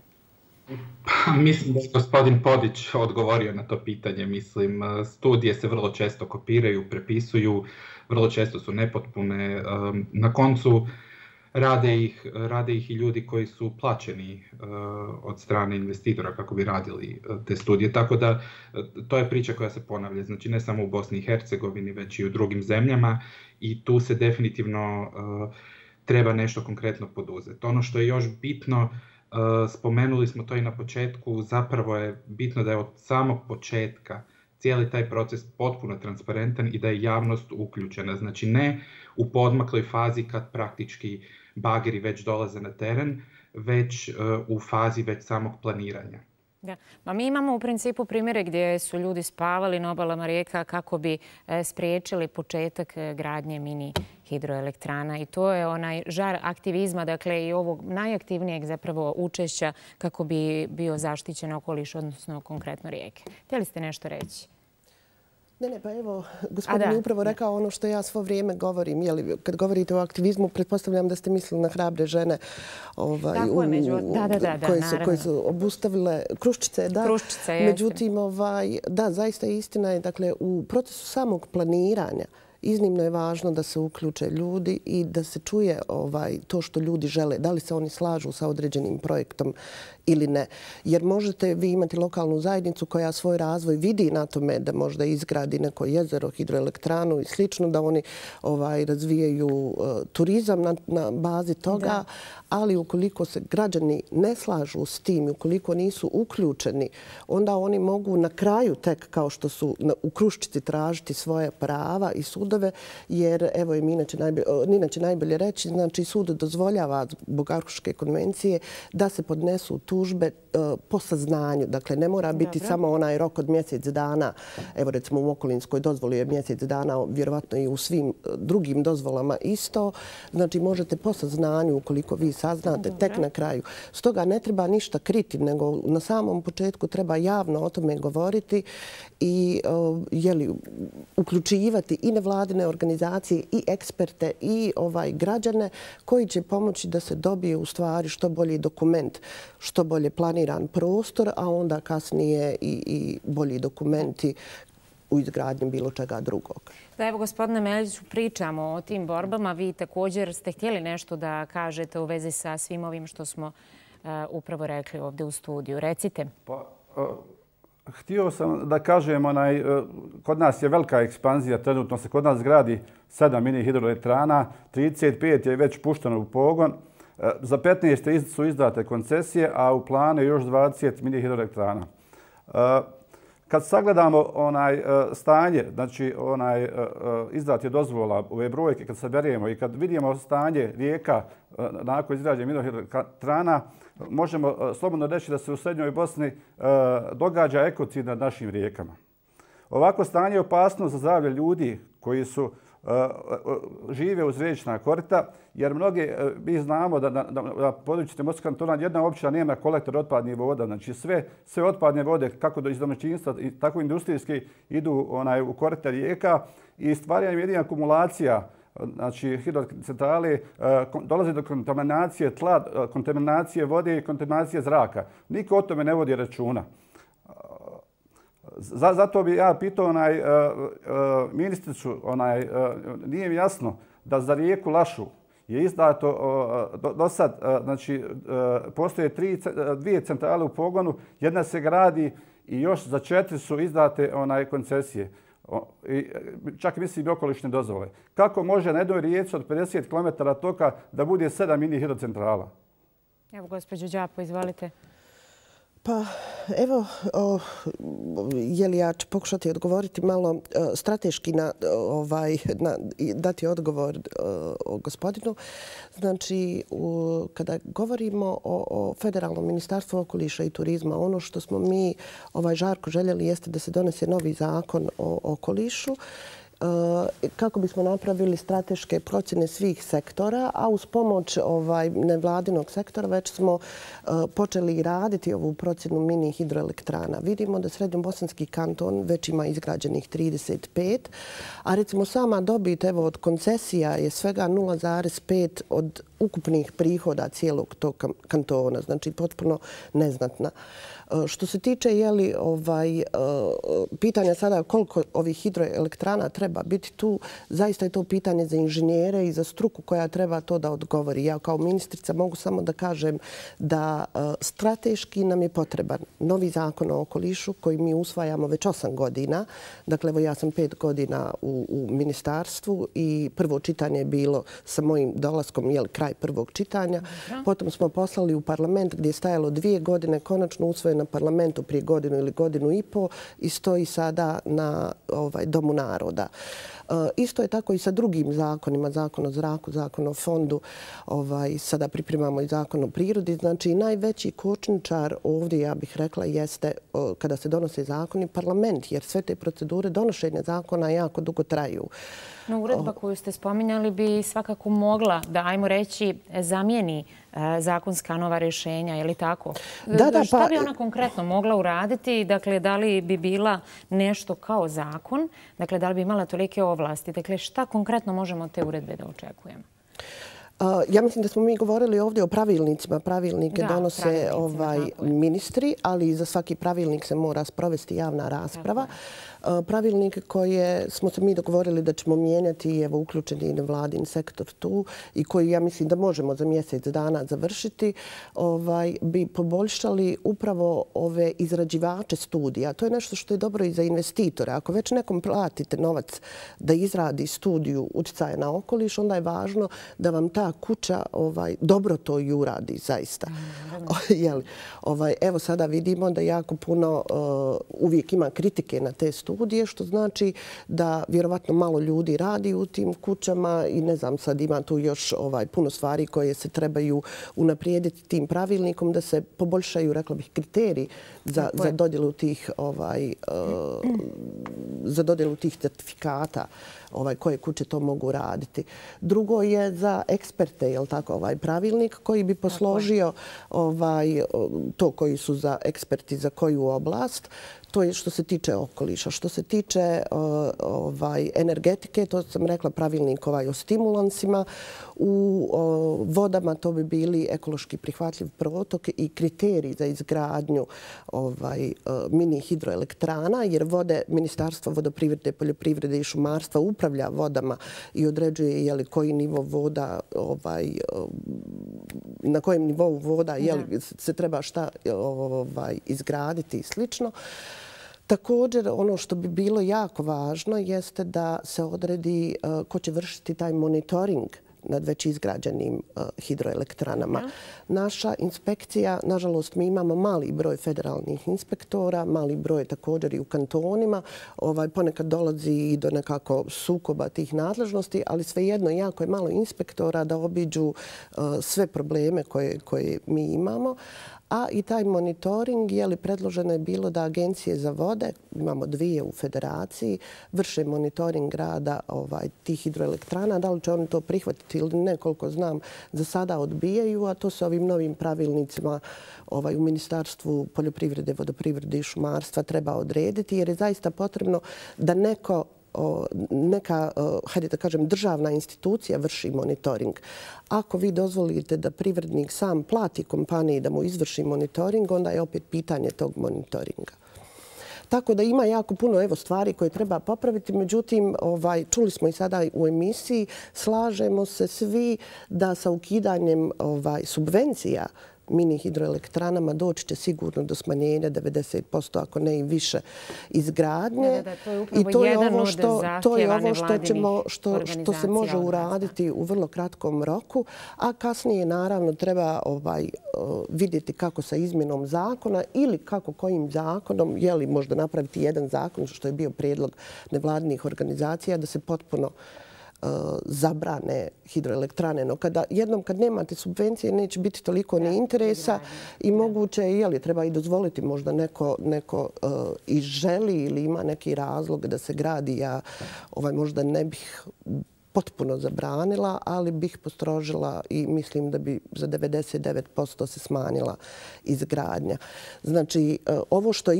Mislim da je gospodin Podić odgovorio na to pitanje. Mislim, studije se vrlo često kopiraju, prepisuju, vrlo često su nepotpune. Na koncu rade ih i ljudi koji su plaćeni od strane investitora kako bi radili te studije. Tako da to je priča koja se ponavlja. Znači ne samo u Bosni i Hercegovini, već i u drugim zemljama i tu se definitivno treba nešto konkretno poduzeti. Ono što je još bitno, spomenuli smo to i na početku, zapravo je bitno da je od samog početka cijeli taj proces potpuno transparentan i da je javnost uključena. Znači ne u poodmakloj fazi kad praktički bageri već dolaze na teren, već u fazi već samog planiranja. Da. Mi imamo u principu primjere gdje su ljudi spavali na obalama rijeka kako bi spriječili početak gradnje mini hidroelektrana i to je onaj žar aktivizma, dakle i ovog najaktivnijeg zapravo učešća kako bi bio zaštićen okoliš, odnosno konkretno rijeke. Htjeli ste nešto reći? Ne, pa evo, gospodin je upravo rekao ono što ja svo vrijeme govorim. Kad govorite o aktivizmu, pretpostavljam da ste mislili na hrabre žene koje su obustavile Kruščice. Međutim, da, zaista istina je, dakle, u procesu samog planiranja iznimno je važno da se uključe ljudi i da se čuje to što ljudi žele, da li se oni slažu sa određenim projektom ili ne. Jer možete vi imati lokalnu zajednicu koja svoj razvoj vidi na tome da možda izgradi neko jezero, hidroelektranu i slično, da oni razvijaju turizam na bazi toga, ali ukoliko se građani ne slažu s tim i ukoliko nisu uključeni, onda oni mogu na kraju tek, kao što su u Kruščici, tražiti svoje prava i sudove, jer evo je Nina će najbolje reći, znači sud dozvoljava zbog Arhuške konvencije da se podnesu tužbe po saznanju. Dakle, ne mora biti samo onaj rok od mjesec dana. Evo recimo u okolinskoj dozvoli je mjesec dana, vjerovatno i u svim drugim dozvolama isto. Znači možete po saznanju, ukoliko vi saznate, tek na kraju. Stoga ne treba ništa kriti, nego na samom početku treba javno o tome govoriti i uključivati i nevladine organizacije i eksperte i građane koji će pomoći da se dobije u stvari što bolji dokument, što bolje planiran prostor, a onda kasnije i bolji dokumenti u izgradnji bilo čega drugog. Da, evo, gospodine Meljiću, pričamo o tim borbama. Vi također ste htjeli nešto da kažete u vezi sa svim ovim što smo upravo rekli ovdje u studiju. Recite. Htio sam da kažem, kod nas je velika ekspanzija, trenutno se kod nas gradi 7 mini hidroelektrana, 35 je već pušteno u pogon. Za 15 su izdate koncesije, a u planu je još 20 mini hidroelektrana. Kad sagledamo stanje, znači izdati dozvola, ove brojke, kad saberemo i kad vidimo stanje rijeka nakon izgrađenja mini-hidroelektrana, možemo slobodno reći da se u Srednjoj Bosni događa ekocid nad našim rijekama. Ovako stanje je opasno za zdravlje ljudi koji žive uz riječna korita, jer mi znamo da na području Timorskog kantona jedna općina nema kolektor otpadnih voda. Znači sve otpadne vode, kako iz domaćinstva, tako i industrijski, idu u korite rijeka i stvaranje jedina akumulacija, znači hidrocentrale, dolazi do kontaminacije tla, kontaminacije vode i kontaminacije zraka. Niko o tome ne vodi računa. Zato bi ja pitao ministricu, nije mi jasno da za rijeku Lašu je izdato do sad, znači postoje dvije centrale u pogonu, jedna se gradi i još za 4 su izdate koncesije. Čak mislim i okolišne dozvole. Kako može na jednoj rijeci od 50 km toka da bude 7 mini hidrocentrala? Evo, gospođo Đapo, izvolite. Pa evo, ja ću pokušati odgovoriti malo strateški dati odgovor gospodinu. Znači, kada govorimo o Federalnom ministarstvu okoliša i turizma, ono što smo mi žarko željeli jeste da se donese novi zakon o okolišu kako bismo napravili strateške procjene svih sektora, a uz pomoć nevladinog sektora već smo počeli raditi ovu procjenu mini hidroelektrana. Vidimo da Srednjobosanski kanton već ima izgrađenih 35, a recimo sama dobit od koncesija je svega 0,5 od ukupnih prihoda cijelog tog kantona, znači potpuno neznatna. Što se tiče pitanja sada koliko ovih hidroelektrana treba biti tu, zaista je to pitanje za inženjere i za struku koja treba to da odgovori. Ja kao ministrica mogu samo da kažem da strateški nam je potreban novi zakon o okolišu koji mi usvajamo već 8 godina. Dakle, evo ja sam 5 godina u ministarstvu i prvo čitanje je bilo sa mojim dolaskom, kraj prvog čitanja. Potom smo poslali u parlament gdje je stajalo 2 godine, konačno usvojen na parlamentu prije godinu ili godinu i po i stoji sada na Domu naroda. Isto je tako i sa drugim zakonima, zakon o zraku, zakon o fondu, sada pripremamo i zakon o prirodi. Znači najveći kočničar ovdje, ja bih rekla, jeste kada se donose zakoni parlament, jer sve te procedure donošenja zakona jako dugo traju. No, uredba koju ste spominjali bi svakako mogla da, ajmo reći, zamijeni zakonska nova rješenja, je li tako? Šta bi ona konkretno mogla uraditi? Dakle, da li bi bila nešto kao zakon? Dakle, da li bi imala tolike ovlasti? Dakle, šta konkretno možemo od te uredbe da očekujemo? Ja mislim da smo mi govorili ovdje o pravilnicima. Pravilnike donose ministri, ali za svaki pravilnik se mora sprovesti javna rasprava. Pravilnike koje smo se mi dogovorili da ćemo mijenjati, evo uključeni i nevladin sektor tu i koji ja mislim da možemo za mjesec dana završiti, bi poboljšali upravo ove izrađivače studija. To je nešto što je dobro i za investitore. Ako već nekom platite novac da izradi studiju utjecaja na okoliš, onda je važno da vam ta kuća dobro to i uradi zaista. Evo sada vidimo da jako puno uvijek ima kritike na te studije, što znači da vjerovatno malo ljudi radi u tim kućama i ne znam, sad ima tu još puno stvari koje se trebaju unaprijediti tim pravilnikom da se poboljšaju, rekla bih, kriteriji za dodjelu tih certifikata koje kuće to mogu raditi. Drugo je za eksperte, je li tako, pravilnik koji bi posložio to koji su za eksperti za koju oblast. To je što se tiče okoliša. Što se tiče energetike, to sam rekla pravilnik o stimulansima. U vodama to bi bili ekološki prihvatljiv protok i kriteriji za izgradnju mini hidroelektrana, jer vode Ministarstvo vodoprivrede, poljoprivrede i šumarstva upravlja vodama i određuje koji nivo voda, na kojem nivou voda se treba šta izgraditi i slično. Također, ono što bi bilo jako važno jeste da se odredi ko će vršiti taj monitoring nad već izgrađenim hidroelektranama. Naša inspekcija, nažalost, mi imamo mali broj federalnih inspektora, mali broj također i u kantonima. Ponekad dolazi i do nekako sukoba tih nadležnosti, ali svejedno jako je malo inspektora da obiđu sve probleme koje mi imamo. A i taj monitoring, predloženo je bilo da agencije za vode, imamo 2 u federaciji, vrše monitoring rada tih hidroelektrana. Da li će oni to prihvatiti ili ne, koliko znam, za sada odbijaju, a to se ovim novim pravilnicima u Ministarstvu poljoprivrede, vodoprivrede i šumarstva treba odrediti, jer je zaista potrebno da neka, hajde da kažem, državna institucija vrši monitoring. Ako vi dozvolite da privrednik sam plati kompaniji da mu izvrši monitoring, onda je opet pitanje tog monitoringa. Tako da ima jako puno stvari koje treba popraviti. Međutim, čuli smo i sada u emisiji, slažemo se svi da sa ukidanjem subvencija mini hidroelektranama doći će sigurno do smanjenja 90%, ako ne i više, izgradnje. I to je ovo što se može uraditi u vrlo kratkom roku, a kasnije naravno treba vidjeti kako sa izmjenom zakona ili kako kojim zakonom, je li možda napraviti jedan zakon, što je bio prijedlog nevladinih organizacija, da se potpuno zabrane hidroelektrane. No jednom kad nemate subvencije neće biti toliko ni interesa i moguće je treba i dozvoliti možda neko i želi ili ima neki razlog da se gradi. Ja možda ne bih potpuno zabranila, ali bih postrožila i mislim da bi za 99% se smanjila izgradnja. Znači, ovo što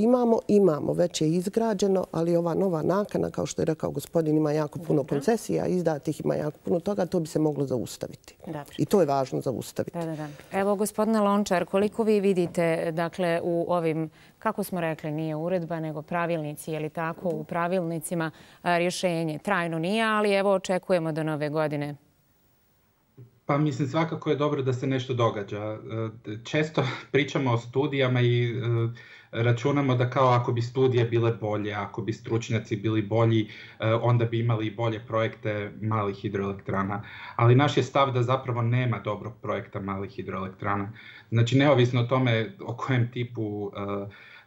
imamo, već je izgrađeno, ali ova nova nakana, kao što je rekao gospodin, ima jako puno koncesija, izdatih ima jako puno toga, to bi se moglo zaustaviti. I to je važno zaustaviti. Evo, gospodine Lončar, koliko vi vidite, dakle, u ovim, kako smo rekli, nije uredba, nego pravilnici, je li tako, u pravilnicima rješenje trajno nije, ali evo očekujemo do nove godine. Pa mislim, svakako je dobro da se nešto događa. Često pričamo o studijama i računamo da kao ako bi studije bile bolje, ako bi stručnjaci bili bolji, onda bi imali bolje projekte malih hidroelektrana. Ali naš je stav da zapravo nema dobrog projekta malih hidroelektrana. Znači, neovisno o tome o kojem tipu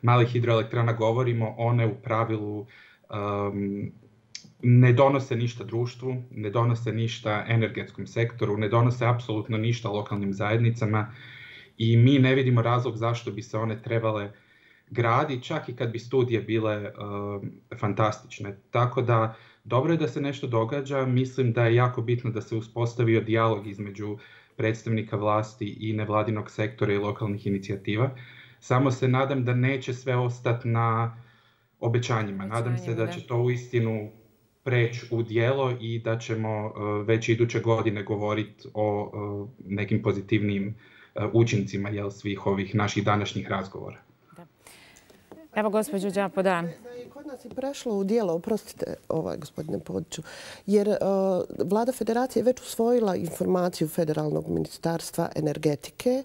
malih hidroelektrana govorimo, one u pravilu ne donose ništa društvu, ne donose ništa energetskom sektoru, ne donose apsolutno ništa lokalnim zajednicama i mi ne vidimo razlog zašto bi se one trebale graditi, čak i kad bi studije bile fantastične. Tako da dobro je da se nešto događa. Mislim da je jako bitno da se uspostavio dijalog između predstavnika vlasti i nevladinog sektora i lokalnih inicijativa. Samo se nadam da neće sve ostati na obećanjima. Nadam se da će to uistinu preći u djelo i da ćemo već iduće godine govoriti o nekim pozitivnim učincima svih ovih naših današnjih razgovora. Evo, gospođo Đapo, da. Kod nas je prešlo u djelo, oprostite, gospodine Podiću, jer Vlada Federacije je već usvojila informaciju Federalnog ministarstva energetike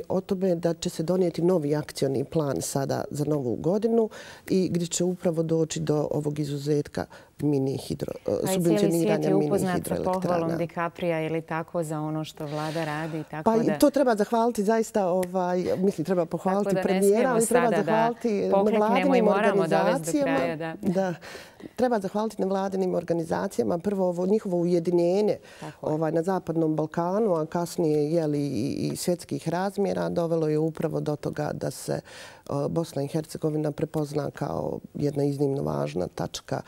o tome da će se donijeti novi akcioni plan sada za novu godinu i gdje će upravo doći do ovog izuzetka subvencioniranja mini hidroelektrana. Cijeli svijet je upoznat sa pohvalom DiCaprija ili tako za ono što vlada radi. Pa to treba zahvaliti zaista, treba pohvaliti premijera, ali treba zahvaliti nevladinim organizacijama. Treba zahvaliti nevladinim organizacijama. Prvo ovo njihovo ujedinjenje na Zapadnom Balkanu, a kasnije i svjetskih razmjera dovelo je upravo do toga da se Bosna i Hercegovina prepozna kao jedna iznimno važna tačka,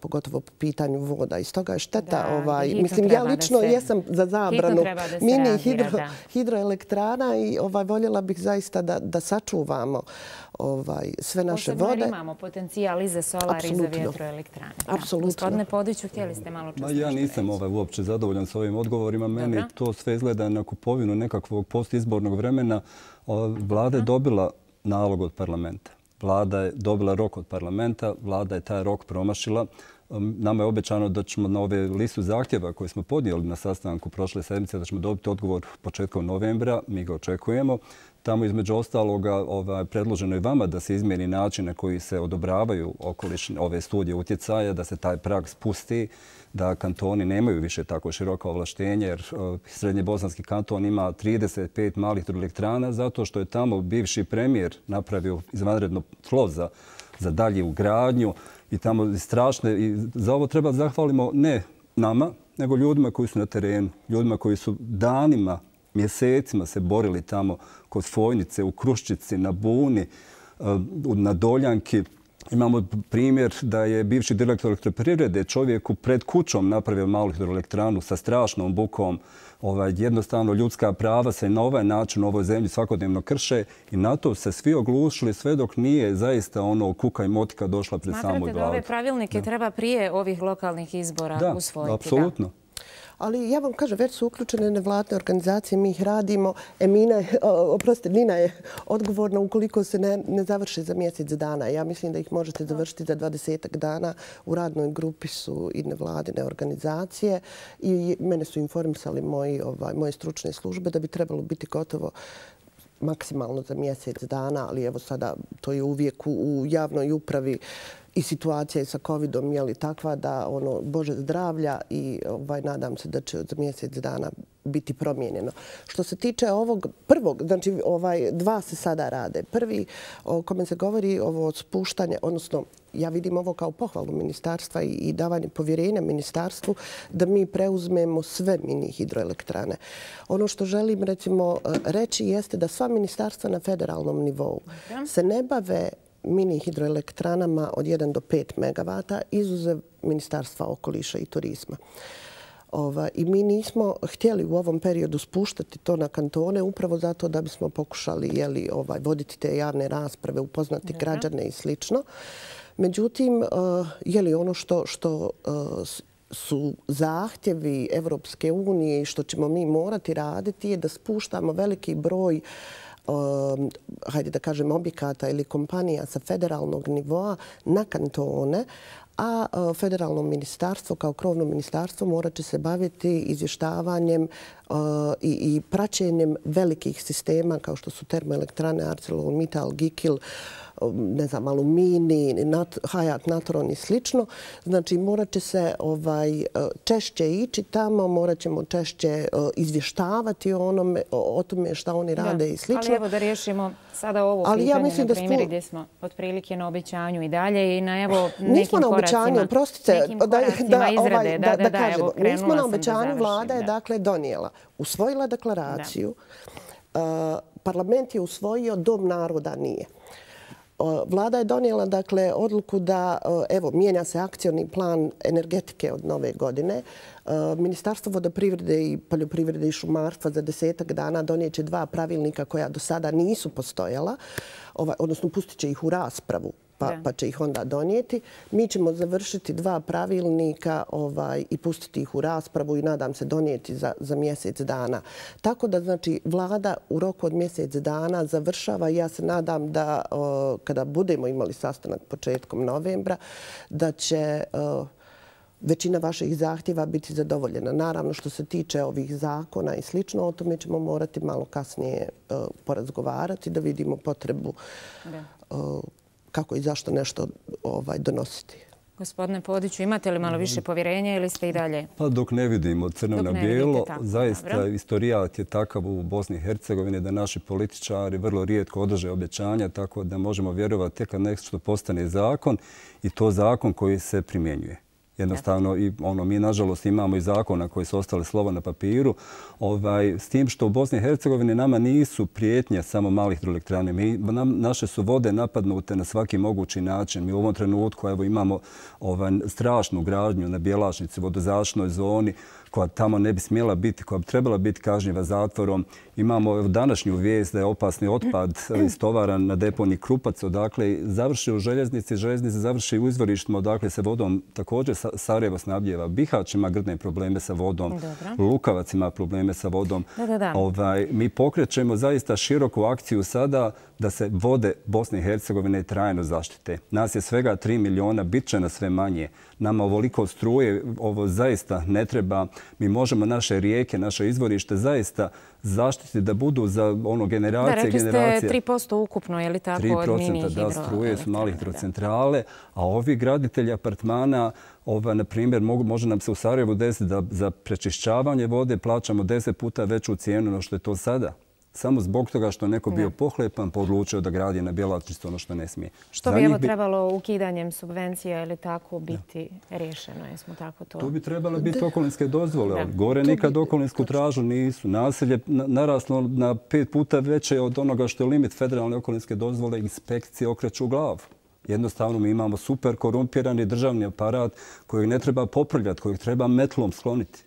pogotovo po pitanju voda. I stoga je šteta. Mislim, ja lično jesam za zabranu mini hidroelektrana i voljela bih zaista da sačuvamo sve naše vode. Posebno imamo potencijal i za solar i za vjetroelektrane. Apsolutno. Gospodine Podiću, htjeli ste malo čuti? Ja nisam uopće zadovoljan s ovim odgovorima. Meni to sve izgleda na kupovinu nekakvog postizbornog vremena. Vlada je dobila nalog od parlamenta. Vlada je dobila rok od parlamenta, vlada je taj rok promašila. Nama je obećano da ćemo na ove listu zahtjeva koje smo podnijeli na sastanku prošle sedmice, da ćemo dobiti odgovor početkom novembra. Mi ga očekujemo. Tamo između ostaloga predloženo je vama da se izmijeni način na koji se odobravaju ove studije utjecaja, da se taj prag spusti, da kantoni nemaju više tako široka ovlaštenja, jer Srednje bosanski kanton ima 35 malih hidroelektrana zato što je tamo bivši premijer napravio izvanredno tlo za dalje ugradnju i tamo strašne. I za ovo treba zahvalimo ne nama, nego ljudima koji su na terenu, ljudima koji su danima, mjesecima se borili tamo kod Fojnice, u Kruščici, na Buni, na Doljanki. Imamo primjer da je bivši direktor elektroprivrede čovjeku pred kućom napravio malu hidroelektranu sa strašnom bukom. Jednostavno ljudska prava se na ovaj način u ovoj zemlji svakodnevno krše i na to se svi oglušili sve dok nije zaista ono kuka i motika došla pred samu Vladu. Smatrate da ove pravilnike treba prije ovih lokalnih izbora usvojiti? Da, apsolutno. Ali ja vam kažem, već su uključene nevladne organizacije, mi ih radimo. Nina je odgovorna ukoliko se ne završi za mjesec dana. Ja mislim da ih možete završiti za 20 dana. U radnoj grupi su i nevladine organizacije i mene su informisali moje stručne službe da bi trebalo biti gotovo maksimalno za mjesec dana, ali evo sada to je uvijek u javnoj upravi i situacija sa COVID-om je li takva da Bože zdravlja i nadam se da će za mjesec dana biti promijenjeno. Što se tiče ovog prvog, znači dva se sada rade. Prvi o kome se govori ovo spuštanje, odnosno ja vidim ovo kao pohvalu ministarstva i davanje povjerenja ministarstvu da mi preuzmemo sve mini hidroelektrane. Ono što želim recimo reći jeste da sva ministarstva na federalnom nivou se ne bave mini hidroelektranama od 1 do 5 megavata, izuzev Ministarstva okoliša i turizma. I mi nismo htjeli u ovom periodu spuštati to na kantone upravo zato da bismo pokušali voditi te javne rasprave, upoznati građane i slično. Međutim, ono što su zahtjevi Evropske unije i što ćemo mi morati raditi je da spuštamo veliki broj hajde da kažem, objekata ili kompanija sa federalnog nivoa na kantone, a federalno ministarstvo kao krovno ministarstvo morat će se baviti izvještavanjem i praćenjem velikih sistema kao što su termoelektrane ArcelorMittal, Gikil, ne znam, Alumini, Hayat, Natron i slično. Znači, morat će se češće ići tamo, morat ćemo češće izvještavati o tome šta oni rade i slično. Ali evo da riješimo sada ovo pitanje, na primjer, gdje smo otprilike na obećanju i dalje i na evo nekim koracima izrade. Da kažemo, nismo na obećanju, vlada je dakle donijela, usvojila deklaraciju, parlament je usvojio, Dom naroda nije. Vlada je donijela dakle odluku da mijenja se akcioni plan energetike od nove godine. Ministarstvo vodoprivrede i poljoprivrede i šumarstva za 10 dana donijet će 2 pravilnika koja do sada nisu postojala, odnosno pustit će ih u raspravu pa će ih onda donijeti. Mi ćemo završiti 2 pravilnika i pustiti ih u raspravu i nadam se donijeti za mjesec dana. Tako da znači vlada u roku od mjesec dana završava i ja se nadam da kada budemo imali sastanak početkom novembra da će većina vaših zahtjeva biti zadovoljena. Naravno, što se tiče ovih zakona i slično, o tome ćemo morati malo kasnije porazgovarati da vidimo potrebu kako i zašto nešto donositi. Gospodine Podiću, imate li malo više povjerenja ili ste i dalje? Pa dok ne vidimo crno na bijelo, zaista istorijat je takav u Bosni i Hercegovini da naši političari vrlo rijetko održe obećanja, tako da možemo vjerovati tek kad nešto postane zakon i to zakon koji se primjenjuje. Jednostavno, mi nažalost imamo i zakona koji su ostali slovo na papiru, s tim što u Bosni i Hercegovini nama nisu prijetnje samo malih hidroelektrane. Naše su vode napadnute na svaki mogući način. Mi u ovom trenutku imamo strašnu gradnju na Bjelašnici, vodozaštnoj zoni, koja tamo ne bi smjela biti, koja bi trebala biti kažnjiva zatvorom. Imamo današnju vijest da je opasni otpad istovaran na deponiji Krupac, odakle završi u željeznici, željeznici završi u izvorištima, odakle se vodom također Sarajevo snabdijeva. Bihać ima grdne probleme sa vodom, Lukavac ima probleme sa vodom. Mi pokrećemo zaista široku akciju sada da se vode Bosne i Hercegovine trajno zaštite. Nas je svega 3 miliona, bit će nas sve manje. Nama ovoliko struje, ovo zaista ne treba. Mi možemo naše rijeke, naše izvorište zaista zaštiti da budu za generacije i generacije. Da, rekli ste 3% ukupno, je li tako, od mini hidroelektrana? Da, struje su mali hidrocentrale, a ovi graditelji apartmana, na primjer, može nam se u Sarajevu desiti da za prečišćavanje vode plaćamo 10 puta veću cijenu no što je to sada. Samo zbog toga što neko bio pohlepan, pa odlučio da gradi na Bjelačištu ono što ne smije. Što bi trebalo ukidanjem subvencija ili tako biti rješeno? Jesmo tako to? Tu bi trebalo biti okolinske dozvole. Gore nikad okolinsku tražu nisu. Naselje naraslo na 5 puta veće od onoga što je limit federalne okolinske dozvole. Inspekcije okreću glavu. Jednostavno mi imamo super korumpirani državni aparat kojeg ne treba poprljati, kojeg treba metlom skloniti.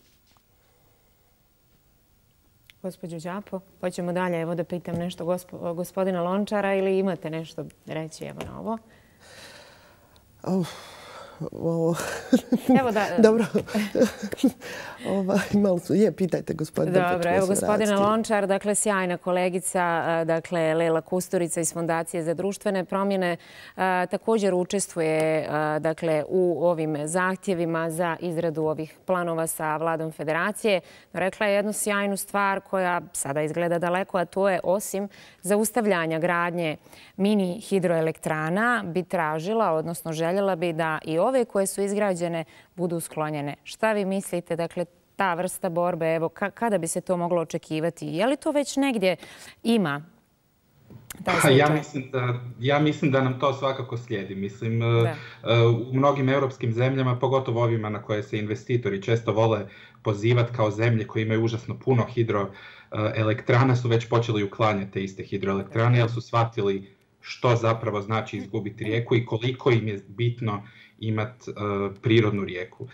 Gospođo Đapo, hoćemo dalje. Evo da pitam nešto gospodina Lončara ili imate nešto reći evo na ovo? Dobro. Pitajte gospodine. Dobro, evo gospodina Lončar, dakle sjajna kolegica, dakle Lela Kusturica iz Fondacije za društvene promjene, također učestvuje dakle u ovim zahtjevima za izradu ovih planova sa Vladom Federacije. Rekla je jednu sjajnu stvar koja sada izgleda daleko, a to je osim zaustavljanja gradnje mini hidroelektrana bi tražila, odnosno željela bi da i ove koje su izgrađene budu sklonjene. Šta vi mislite, dakle, ta vrsta borbe, evo, kada bi se to moglo očekivati? Je li to već negdje ima? Ja mislim da nam to svakako slijedi. Mislim, u mnogim europskim zemljama, pogotovo ovima na koje se investitori često vole pozivati kao zemlje koje imaju užasno puno hidroelektrana, su već počeli uklanjati te iste hidroelektrane, jer su shvatili što zapravo znači izgubiti rijeku i koliko im je bitno imati prirodnu rijeku.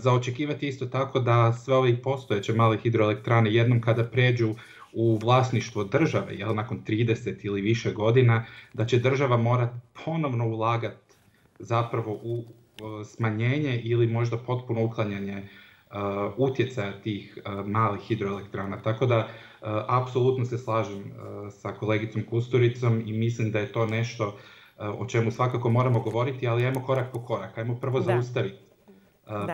Za očekivati isto tako da sve ove postojeće male hidroelektrane jednom kada pređu u vlasništvo države, nakon 30 ili više godina, da će država morati ponovno ulagati zapravo u smanjenje ili možda potpuno uklanjanje utjecaja tih malih hidroelektrana. Tako da apsolutno se slažem sa kolegicom Kusturicom i mislim da je to nešto o čemu svakako moramo govoriti, ali ajmo korak po korak. Ajmo prvo zaustaviti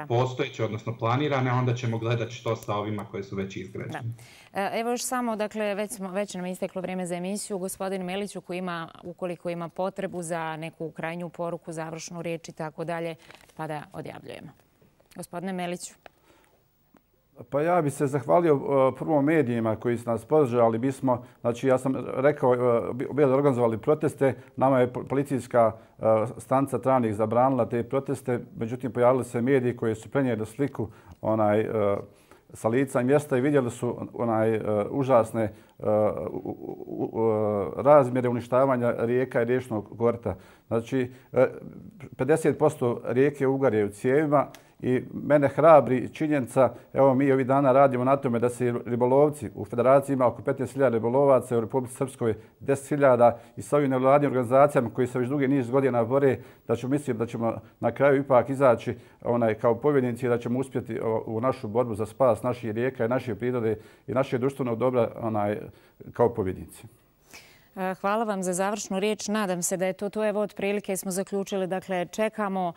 postojeće, odnosno planirane, a onda ćemo gledati što sa ovima koje su već izgrađene. Evo još samo, dakle, već nam je isteklo vrijeme za emisiju. Gospodin Meliću, ukoliko ima potrebu za neku krajnju poruku, završnu riječ i tako dalje, pa da odjavljujemo. Gospodine Meliću. Pa ja bih se zahvalio prvo medijima koji su nas podržali. Znači ja sam rekao, bili organizovali proteste, nama je policijska stanica Travnik zabranila te proteste, međutim pojavili se mediji koji su prenijeli sliku sa lica mjesta i vidjeli su užasne razmjere uništavanja rijeka i riječnog korita. Znači 50% rijeke Ugar je u cijevima. I mene hrabri činjenica, evo mi ovih dana radimo na tome da se ribolovci, u Federaciji ima oko 15.000 ribolovaca, u Republici Srpskoj 10.000 i sa ovim nevladnim organizacijama koji se već dugi niz godina bore, mislim da ćemo na kraju ipak izaći kao pobjednici i da ćemo uspjeti u našu borbu za spas naših rijeka i naše prirode i našeg društvenog dobra kao pobjednici. Hvala vam za završnu riječ. Nadam se da je to. Evo, otprilike smo zaključili. Dakle, čekamo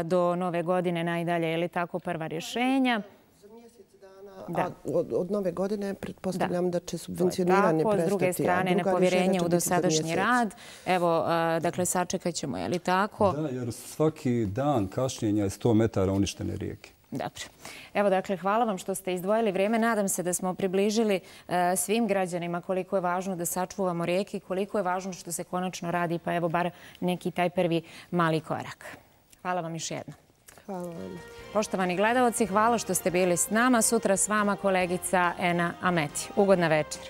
do nove godine najdalje, je li tako, prva rješenja? Za mjesec dana, od nove godine pretpostavljam da će subvencioniranje prestati. S druge strane, nepovjerenje u dosadašnji rad. Evo, dakle, sačekat ćemo, je li tako? Da, jer svaki dan kašnjenja je 100 metara uništene rijeke. Dobro. Evo, dakle, hvala vam što ste izdvojili vrijeme. Nadam se da smo približili svim građanima koliko je važno da sačuvamo rijeke i koliko je važno što se konačno radi, pa evo bar neki taj prvi mali korak. Hvala vam još jednom. Hvala vam. Poštovani gledaoci, hvala što ste bili s nama. Sutra s vama kolegica Ena Ameti. Ugodna večer.